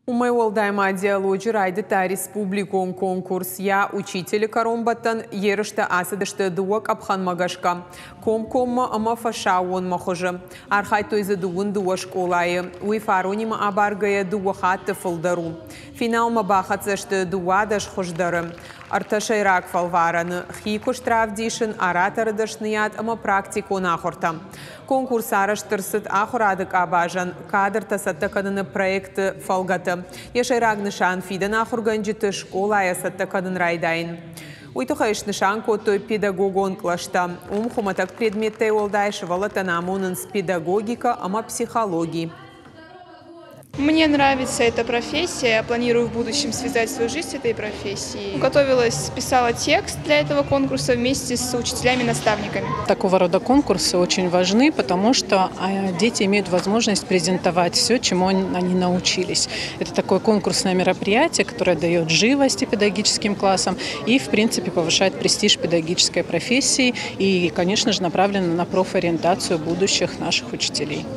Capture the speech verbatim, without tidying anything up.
Уымӕй уӕлдай ма диалоджы райдыдта республикон конкурс «Я учитель» кӕронбӕттӕн ерыстӕ ацыдысты дыууӕ къӕпхӕнмӕ гӕсгӕ комкоммӕ ӕмӕ фӕсаууонмӕ хуызы. Архайдтой дзы дыууын дыууӕ скъолайы. Уый фаронимӕ абаргӕйӕ дыууӕ хатты фылдӕр у. Финалмӕ бахӕццӕ сты дыууадӕс хуыздӕры. Ӕртӕ сӕйраг фӕлварӕны хи куыст равдисын, ораторы дӕсныйад ӕмӕ практикон ахуыртӕ. Конкурс арӕзт ӕрцыд ахуырады къабазӕн кадртӕ цӕттӕ кӕныны проекты фӕлгӕты. Йӕ сӕйраг нысан фидӕны ахуыргӕнджыты скъолайӕ цӕттӕ кӕнын райдайын. Уый тыххӕй снысан кодтой педагогон кълӕстӕ. Уым хуымӕтӕг предметтӕй уӕлдай сывӕллӕттӕн амонынц педагогикӕ ӕмӕ психологи. Мне нравится эта профессия, я планирую в будущем связать свою жизнь с этой профессией. Готовилась, писала текст для этого конкурса вместе с учителями-наставниками. Такого рода конкурсы очень важны, потому что а, дети имеют возможность презентовать все, чему они научились. Это такое конкурсное мероприятие, которое дает живости педагогическим классам и, в принципе, повышает престиж педагогической профессии и, конечно же, направлено на профориентацию будущих наших учителей.